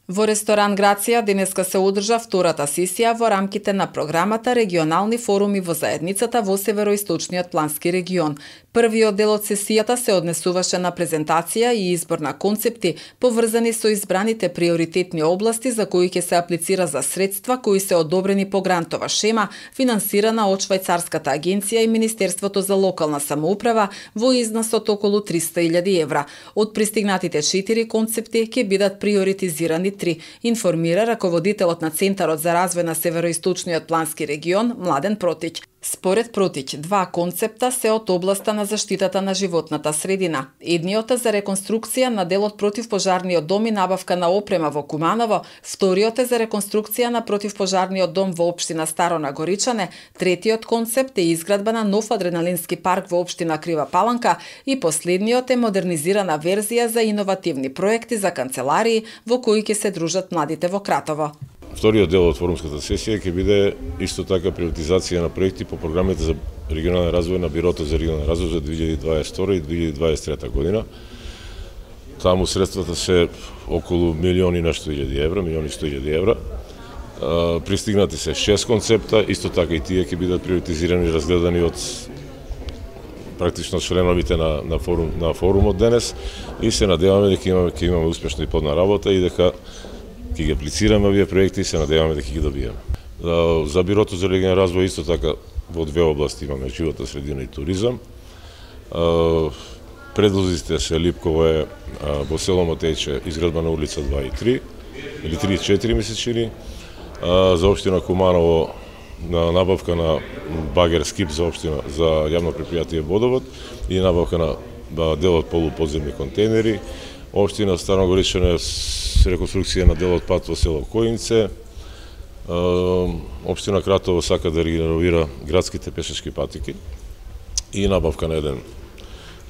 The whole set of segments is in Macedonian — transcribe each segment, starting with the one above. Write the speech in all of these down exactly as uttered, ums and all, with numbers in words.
Во ресторан Грација денеска се одржа втората сесија во рамките на програмата Регионални форуми во заедницата во Североисточниот плански регион. Првиот дел од сесијата се однесуваше на презентација и избор на концепти поврзани со избраните приоритетни области за кои ќе се аплицира за средства кои се одобрени по грантова шема финансирана од Швајцарската агенција и Министерството за локална самоуправа во износ од околу триста илјади евра. Од пристигнатите четири концепти ќе бидат приоритизирани три, информира раководителот на Центарот за развој на Североисточниот плански регион Младен Протиќ. Според Протиќ, два концепта се од областа на заштитата на животната средина. Едниот е за реконструкција на делот противпожарниот дом и набавка на опрема во Куманово, вториот е за реконструкција на противпожарниот дом во општина Старо Нагоричане, третиот концепт е изградба на нов адреналински парк во општина Крива Паланка и последниот е модернизирана верзија за иновативни проекти за канцеларии во кои ќе се дружат младите во Кратово. Вториот дел од форумската сесија ќе биде исто така приоритизација на проекти по програмите за регионален развој на Бирото за регионален развој за две илјади дваесет и втора и две илјади дваесет и трета година. Таму средствата се околу милион и нешто илјади евра, милион и сто илјади евра. Пристигнати се шест концепта, исто така и тие ќе бидат приоритизирани и разгледани од практично членовите на на форум на форумот денес и се надеваме дека имаме ќе имаме успешна и плодна работа и дека ќе ги аплицираме овие проекти и се надеваме дека ќе ги добиеме. За, за Бирото за регионален развој исто така во две области имаме животна средина и туризам. Предлозите се Липково е во село Мотејче изградба на улица два и три или три и четири ми се чини. За општина Куманово на набавка на багер скип за општина за јавно предпријатие Водовод и набавка на дел од полуподземни контейнери. Општина Старо Нагоричане реконструкција на дел од пат во село Коинце. Општина Кратово сака да реновира градските пешачки патики и набавка на еден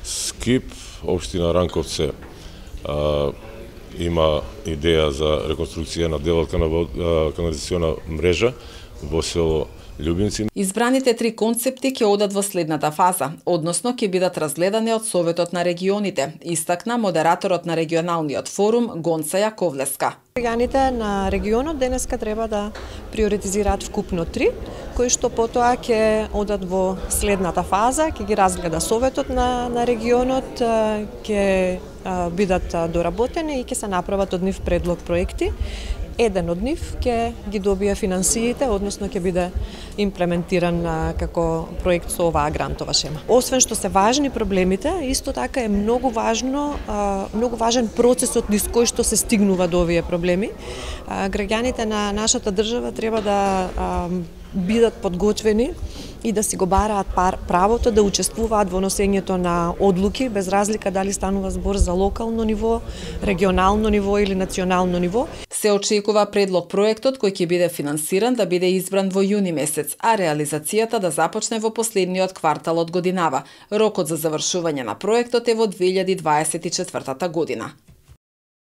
скип. Општина Ранковце а, има идеја за реконструкција на дел од канализациона мрежа во село Љубинци. Избраните три концепти ќе одат во следната фаза, односно ќе бидат разгледани од Советот на регионите, истакна модераторот на регионалниот форум Гонца Јаковлеска. Органите на регионот денеска треба да приоритизираат вкупно три, кои што потоа ќе одат во следната фаза, ќе ги разгледа Советот на, на регионот, ќе бидат доработени и ќе се направат од нив предлог проекти. Еден од нив ќе ги добие финансиите, односно ќе биде имплементиран како проект со оваа грантова шема. Освен што се важни проблемите, исто така е многу важно, многу важен процесот низ кој што се стигнува до овие проблеми. Граѓаните на нашата држава треба да бидат подготвени и да си го бараат правото да учествуваат во носењето на одлуки, без разлика дали станува збор за локално ниво, регионално ниво или национално ниво. Се очекува предлог проектот кој ќе биде финансиран да биде избран во јуни месец, а реализацијата да започне во последниот квартал од годинава. Рокот за завршување на проектот е во две илјади дваесет и четвртата година.